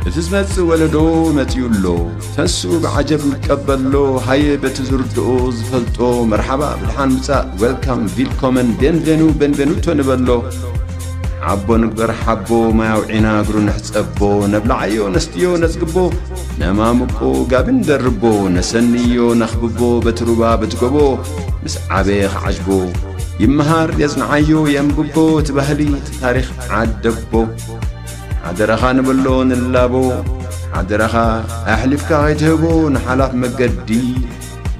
እቲ ዝመጽእ ወለዶ መጺኡ ኣሎ። ተንስኡ ብዓጀብ ንቀበሎ። ሃየ በቲ ዝርድኦ ዝፈልጦ መርሓባ ብድሓን ምጻእ፣ ዌልካም፣ ቪልኮመን፣ ቤንቬኑ፣ ቤንቬኑቶ ንበሎ። ሓቦ ንግበር ሓቦ፣ ማይ ኣውዒና እግሩ ንሕጸቦ። ነብልዓዮ ነስትዮ ነጽግቦ፣ ነማምቆ ጋቢ ንደርቦ። ነሰንዮ ነኽብቦ በቲ ሩባ በቲ ጎቦ። ምስ ዓበየ ክዓጅቦ፣ ይመሃር የጽንዓዮ የንብቦ። እቲ ባህሊ እቲ ታሪኽ ዓደቦ። ሓደራኻ ንበሎ ንላቦ፣ ሓደራኻ ኣሕሊፍካ ከይትህቦ ንሓላፍ መገዲ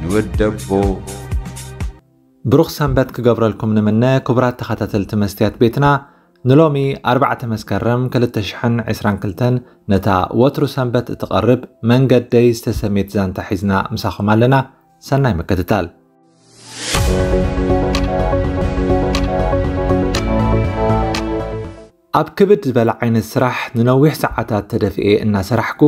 ንወደቦ። ብሩኽ ሰንበት ክገብረልኩም ንምነ። ክቡራት ተኸታተልቲ መስትያት ቤትና፣ ንሎሚ ኣርባዕተ መስከረም ክልተ ሽሕን ዕስራን ክልተን ነታ ወትሩ ሰንበት እትቐርብ መንገደይ ዝተሰምየት ዛንታ ሒዝና ምሳኹም ኣለና። ሰናይ ምክትታል። ኣብ ክብድ ዝበለ ዓይነት ስራሕ ንነዊሕ ሰዓታት ተደፊኤ እናሰራሕኩ፣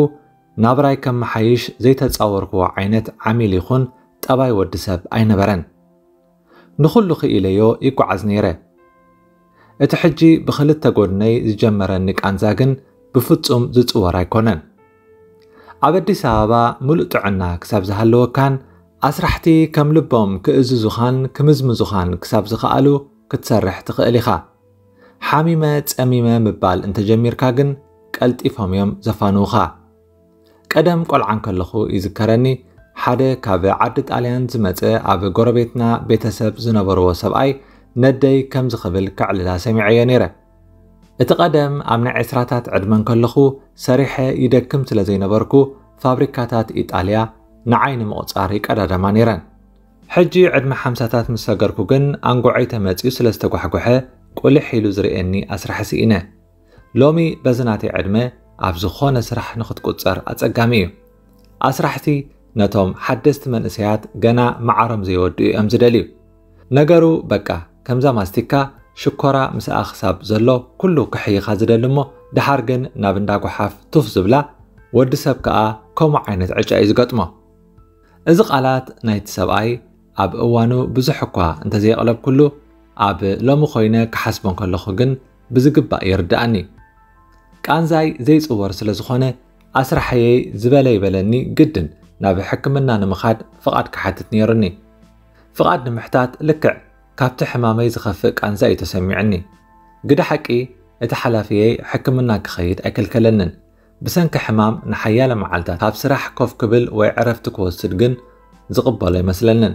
ናብራይ ከመሓይሽ ዘይተጻወርክዎ ዓይነት ዓሚል ይኹን ጠባይ ወዲ ሰብ ኣይነበረን። ንኹሉ ክኢለዮ ይጓዓዝ ነይረ። እቲ ሕጂ ብኽልተ ጎድነይ ዝጀመረኒ ቃንዛ ግን ብፍጹም ዝጽወር ኣይኮነን። ኣብ ኣዲስ ኣበባ ምሉእ ጥዕና ክሳብ ዝሃለወካን ኣስራሕቲ ከም ልቦም ክእዝዙኻን ክምዝምዙኻን ክሳብ ዝኸኣሉ ክትሰርሕ ትኽእል ኢኻ። ሓሚመ ጸሚመ ምባል እንተጀሚርካ ግን ቀልጢፎም እዮም ዘፋንዉኻ። ቀደም ቆልዓ እንከለኹ ይዝከረኒ፣ ሓደ ካብ ዓዲ ጣልያን ዝመጸ ኣብ ጎረቤትና ቤተሰብ ዝነበርዎ ሰብኣይ ነደይ ከምዚ ክብል ከዕልላ ሰሚዐዮ ነይረ። እቲ ቀደም ኣብ ናይ ዕስራታት ዕድመ እንከለኹ ሰሪሐ ይደክም ስለ ዘይነበርኩ ፋብሪካታት ኢጣልያ ንዓይ ንምቑጻር ይቀዳደማ ነይረን። ሕጂ ዕድመ ሓምሳታት ምስ ሰገርኩ ግን ኣንጎዐይ ተመጺኡ ስለ ዝተጓሕጎሐ ቁልሕ ኢሉ ዝርእየኒ ኣስራሒ ስኢነ። ሎሚ በዚ ናተይ ዕድመ ኣብ ዝኾነ ስራሕ ንኽትቁጸር ኣጸጋሚ እዩ። ኣስራሕቲ ነቶም ሓደስቲ መንእሰያት ገና መዓሮም ዘይወድኡ እዮም ዝደልዩ። ነገሩ በቃ ከምዛ ማስቲካ ሽኮራ ምስኣ ክሳብ ዘሎ ኩሉ ክሕይኻ ዝደሊ እሞ ድሓር ግን ናብ እንዳ ጓሓፍ ቱፍ ዝብላ ወዲ ሰብ ከኣ ከምኡ ዓይነት ዕጫ እዩ ዝገጥሞ። እዚ ቃላት ናይቲ ሰብኣይ ኣብ እዋኑ ብዙሕ እኳ እንተዘየቕለብኩሉ፣ ኣብ ሎሚ ኮይነ ክሓስቦ እንከለኹ ግን ብዝግባእ ይርድኣኒ። ቃንዛይ ዘይጽወር ስለ ዝኾነ፣ ኣስራሐየይ ዝበለ ይበለኒ ግድን ናብ ሕክምና ንምኻድ ፍቓድ ክሓትት ነይሩኒ። ፍቓድ ንምሕታት ልክዕ ካብቲ ሕማመይ ዝኸፍእ ቃንዛ እዩ ተሰሚዑኒ። ግደ ሓቂ፣ እቲ ሓላፊየይ ሕክምና ክኸይድ ኣይከልከለንን። ብሰንኪ ሕማም ንሓያለ መዓልታት ካብ ስራሕ ኮፍ ክብል ወይ ዕረፍቲ ክወስድ ግን ዝቕበሎ ኣይመስለንን።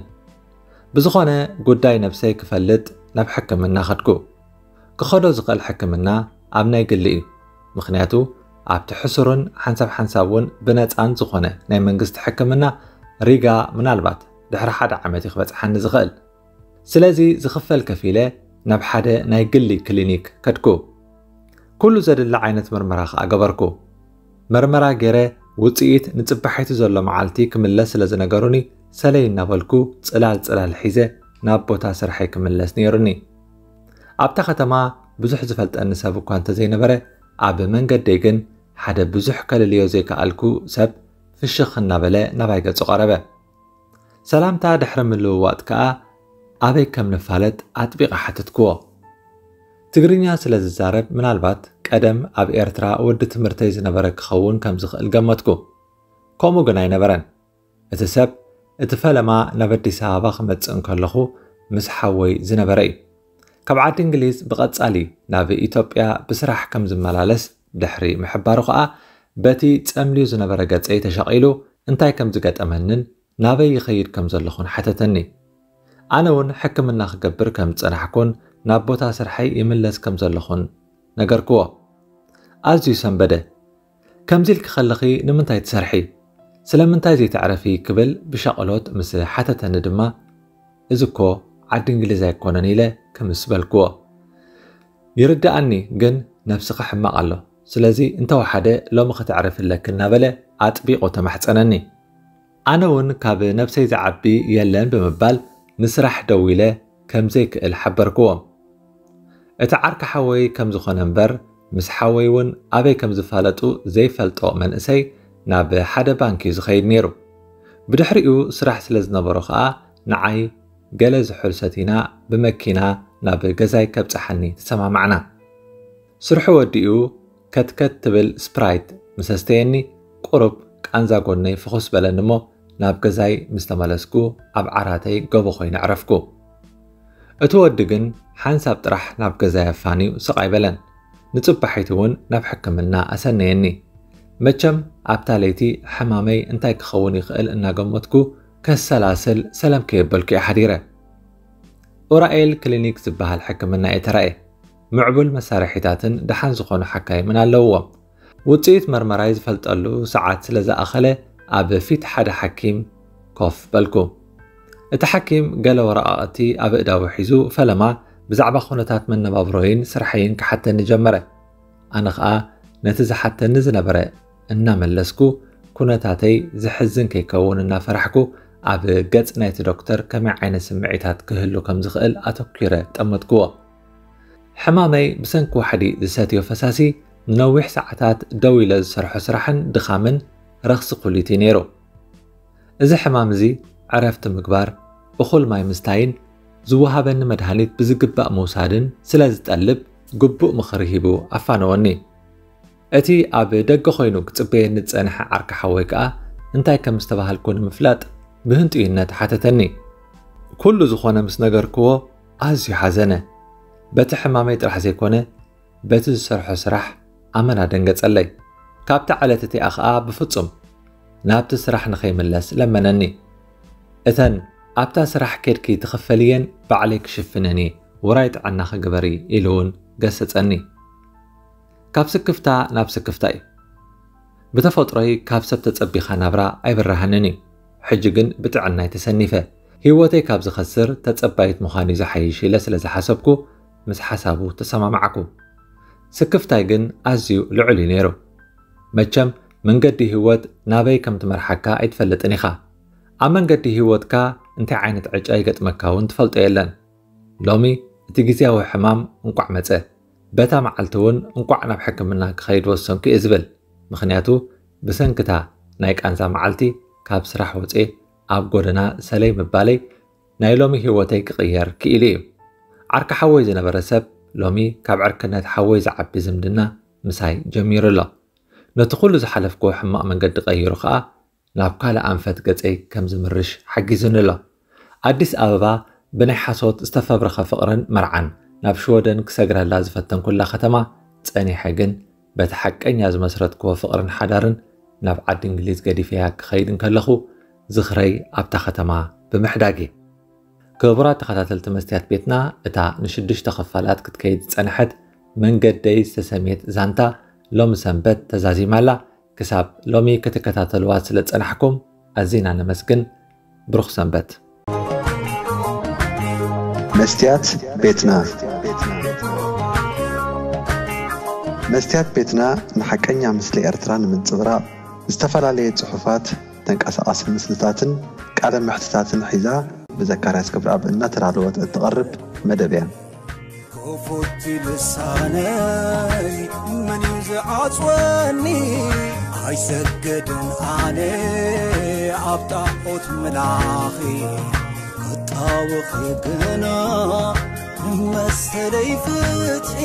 ብዝኾነ ጉዳይ ነብሰይ ክፈልጥ ናብ ሕክምና ከድኩ። ክኸዶ ዝኽእል ሕክምና ኣብ ናይ ግሊ እዩ። ምኽንያቱ ኣብቲ ሕሱርን ሓንሳብ ሓንሳብ እውን ብነፃን ዝኾነ ናይ መንግስቲ ሕክምና ሪጋ ምናልባት ድሕሪ ሓደ ዓመት እዩ ክበፅሓኒ ዝኽእል። ስለዚ ዝኽፈል ከፊለ ናብ ሓደ ናይ ግሊ ክሊኒክ ከድኩ። ኩሉ ዘድሊ ዓይነት ምርመራ ከኣ ገበርኩ። መርመራ ገይረ ውፅኢት ንፅባሒቱ ዘሎ መዓልቲ ክምለስ ስለ ዝነገሩኒ ሰለይ እናበልኩ ፅላል ፅላል ሒዘ ናብ ቦታ ስርሐይ ክምለስ ነይሩኒ። ኣብታ ከተማ ብዙሕ ዝፈልጠኒ ሰብ እኳ እንተዘይነበረ ኣብ መንገደይ ግን ሓደ ብዙሕ ከልልዮ ዘይከኣልኩ ሰብ ፍሽኽ እናበለ ናባይ ገፁ ቀረበ። ሰላምታ ድሕሪ ምልውዋጥ ከኣ ኣበይ ከም ንፋለጥ ኣጥቢቐ ሓተትክዎ። ትግርኛ ስለ ዝዛረብ ምናልባት ቀደም ኣብ ኤርትራ ወዲ ትምህርተይ ዝነበረ ክኸውን ከም ዝኽእል ገመትኩ። ከምኡ ግን ኣይነበረን። እቲ ሰብ እቲ ፈለማ ናብ ኣዲስ ኣበባ ክመጽእ እንከለኹ ምስ ሓወይ ዝነበረ እዩ። ካብ ዓዲ እንግሊዝ ብቐጻሊ ናብ ኢትዮጵያ ብስራሕ ከም ዝመላለስ ድሕሪ ምሕባሩ ከኣ በቲ ጸምልዩ ዝነበረ ገጸይ ተሸቒሉ እንታይ ከም ዝገጠመንን ናበይ ይኸይድ ከም ዘለኹን ሓተተኒ። ኣነ እውን ሕክምና ክገብር ከም ዝጸናሕኩን ናብ ቦታ ስርሐይ ይምለስ ከም ዘለኹን ነገርክዎ። ኣዝዩ ሰንበደ። ከምዚ ኢልኪ ከለኺ ንምንታይ ትሰርሒ? ስለምንታይ ዘይተዕረፊ? ክብል ብሻቕሎት ምስ ሓተተኒ ድማ እዚ እኮ ዓዲ እንግሊዝ ኣይኮነን ኢለ ክምስ በልክዎ። ይርድኣኒ፣ ግን ነብስኺ ሕማቕ ኣሎ። ስለዚ እንተወሓደ ሎሚ ክትዕርፊ ኣለኪ እናበለ ኣጥቢቑ ተማሕጸነኒ። ኣነ እውን ካብ ነብሰይ ዝዓቢ የለን ብምባል ንስራሕ ደዊለ ከም ዘይክእል ሓበርክዎም። እቲ ዓርኪ ሓወይ ከም ዝኾነ እምበር ምስ ሓወይ እውን ኣበይ ከም ዝፋለጡ ዘይፈልጦ መንእሰይ ናብ ሓደ ባንክ እዩ ዝኸይድ ነይሩ። ብድሕሪኡ ስራሕ ስለ ዝነበሮ ኸኣ ንዓይ ገለ ዝሑል ሰቲና ብመኪና ናብ ገዛይ ከብጽሓኒ ተሰማማዕና። ስርሑ ወዲኡ ከትከት ትብል ስፕራይት ምስ ኣስተየኒ፣ ቁሩብ ቃንዛ ጎነይ ፍኹስ በለኒ እሞ፣ ናብ ገዛይ ምስ ተመለስኩ፣ ኣብ ዓራተይ ገቦ ኮይነ ዕረፍኩ። እቲ ወዲ ግን ሓንሳብ ጥራሕ ናብ ገዛይ ኣፋንዩ ስቕ ኣይበለን። ንጽባሒቱ እውን ናብ ሕክምና ኣሰነየኒ። መቸም ኣብታ ለይቲ ሕማመይ እንታይ ክኸውን ይኽእል እናገመትኩ ከሰላስል ሰለም ከየበልኩ እየ ሓዲረ። ኡራኤል ክሊኒክ ዝበሃል ሕክምና እየ ተራእየ። ምዕቡል መሳርሒታትን ደሓን ዝኾኑ ሓካይምን ኣለውዎም። ውጽኢት መርመራይ ዝፈልጠሉ ሰዓት ስለ ዝኣኸለ ኣብ ፊት ሓደ ሓኪም ኮፍ በልኩ። እቲ ሓኪም ገለ ወረቓቕቲ ኣብ ኣእዳዉ ሒዙ ፈለማ ብዛዕባ ኩነታት መነባብሮይን ስርሐይን ክሓተኒ ጀመረ። ኣነ ኸኣ ነቲ ዝሓተኒ ዝነበረ እናመለስኩ ኩነታተይ ዘሕዝን ከይከውን እናፈራሕኩ ኣብ ገጽ ናይቲ ዶክተር ከመይ ዓይነት ስምዒታት ክህሉ ከም ዝኽእል ኣተኲረ ጠመትክዎ። ሕማመይ ብሰንኪ ዋሕዲ ዝሰትዮ ፈሳሲ ንነዊሕ ሰዓታት ደው ኢለ ዝሰርሖ ስራሕን ድኻምን ረኽሲ ኩሊት እዩ ነይሩ። እዚ ሕማም እዚ ዕረፍቲ ምግባር፣ እኹል ማይ ምስታይን ዝወሃበኒ መድሃኒት ብዝግባእ ምውሳድን ስለ ዝጠልብ ግቡእ ምኽሪ ሂቡ ኣፋነወኒ። እቲ ኣብ ደገ ኮይኑ ክጽበየኒ ዝጸንሐ ዓርኪ ሓወይ ከኣ እንታይ ከም ዝተባሃልኩ ንምፍላጥ ብህንጡይነት ሓተተኒ። ኩሉ ዝኾነ ምስ ነገርክዎ ኣዝዩ ሓዘነ። በቲ ሕማመይ ጥራሕ ዘይኮነ በቲ ዝሰርሖ ስራሕ ኣመና ደንገጸለይ። ካብታ ዕለት እቲኣ ኸኣ ብፍጹም ናብቲ ስራሕ ንኸይምለስ ለመነኒ። እተን ኣብታ ስራሕ ኬድኪ ትኽፈልየን ባዕለይ ክሽፍነን እየ፣ ውራይ ጥዕናኺ ግበሪ ኢሉ እውን ገሰጸኒ። ካብ ስክፍታ ናብ ስክፍታ እዩ። ብተፈጥሮይ ካብ ሰብ ተጸቢኻ ናብራ ኣይብርሃንን እዩ። ሕጂ ግን ብጥዕናይ ተሰኒፈ። ህይወተይ ካብ ዝኸስር ተጸባይት ምዃን እዩ ዝሓይሽ ኢለ ስለ ዝሓሰብኩ ምስ ሓሳቡ ተሰማማዕኩ። ስክፍታይ ግን ኣዝዩ ልዑል እዩ ነይሩ። መቸም መንገዲ ህይወት ናበይ ከም ትመርሓካ ኣይትፈልጥን ኢኻ። ኣብ መንገዲ ህይወትካ እንታይ ዓይነት ዕጫ ይገጥመካ እውን ትፈልጦ የለን። ሎሚ እቲ ግዝያዊ ሕማም እንቋዕ መጸ። በታ መዓልቲ እውን እንቋዕ ናብ ሕክምና ክኸይድ ወሰንኩ እየ ዝብል። ምኽንያቱ ብሰንክታ ናይ ቃንዛ መዓልቲ ካብ ስራሕ ወጽኤ ኣብ ጎደና ሰለይ ምባለይ ናይ ሎሚ ህይወተይ ክቕየር ክኢሉ እዩ። ዓርኪ ሓወይ ዝነበረ ሰብ ሎሚ ካብ ዕርክነት ሓወይ ዝዓቢ ዝምድና ምሳይ ጀሚሩ ኣሎ። ነቲ ኩሉ ዝሓለፍክዎ ሕማቕ መንገዲ ቀይሩ ኸኣ ናብ ካልእ ኣንፈት ገጸይ ከም ዝምርሽ ሓጊዙኒ ኣሎ። ኣዲስ ኣበባ ብናይ ሓሶት ዝተፈብረኸ ፍቕርን መርዓን ናብ ሽወደን ክሰግረላ ዝፈተንኩላ ከተማ ጸኒሐ ግን በቲ ሓቀኛ ዝመስረትክዎ ፍቕርን ሓዳርን ናብ ዓዲ እንግሊዝ ገዲፈያ ክኸይድ እንከለኹ ዝኽረይ ኣብታ ከተማ ብምሕዳግ እዩ። ክቡራት ተኸታተልቲ መስትያት ቤትና፣ እታ ንሽዱሽተ ክፋላት ክትከይድ ዝጸንሐት መንገደይ ዝተሰምየት ዛንታ ሎሚ ሰንበት ተዛዚማ ኣላ። ክሳብ ሎሚ ክትከታተልዋ ስለ ዝጸናሕኩም ኣዚና ነመስግን። ብሩኽ ሰንበት። መስትያት ቤትና። መስትያት ቤትና ንሓቀኛ ምስሊ ኤርትራ ንምንጽብራቕ ዝተፈላለየ ጽሑፋት፣ ተንቀሳቓሲ ምስልታትን ቃለ መሕትታትን ሒዛ ብዘካርያስ ገብረኣብ እናተዳለወት እትቐርብ መደብ እያ። ክፉት ልሳነይ መን እዩ ዝዓጽወኒ? ኣይሰግድን ኣነ ኣብ ጣዖት ምላኺ፣ ክጣወኺ ግና መሰለይ ፍትሒ።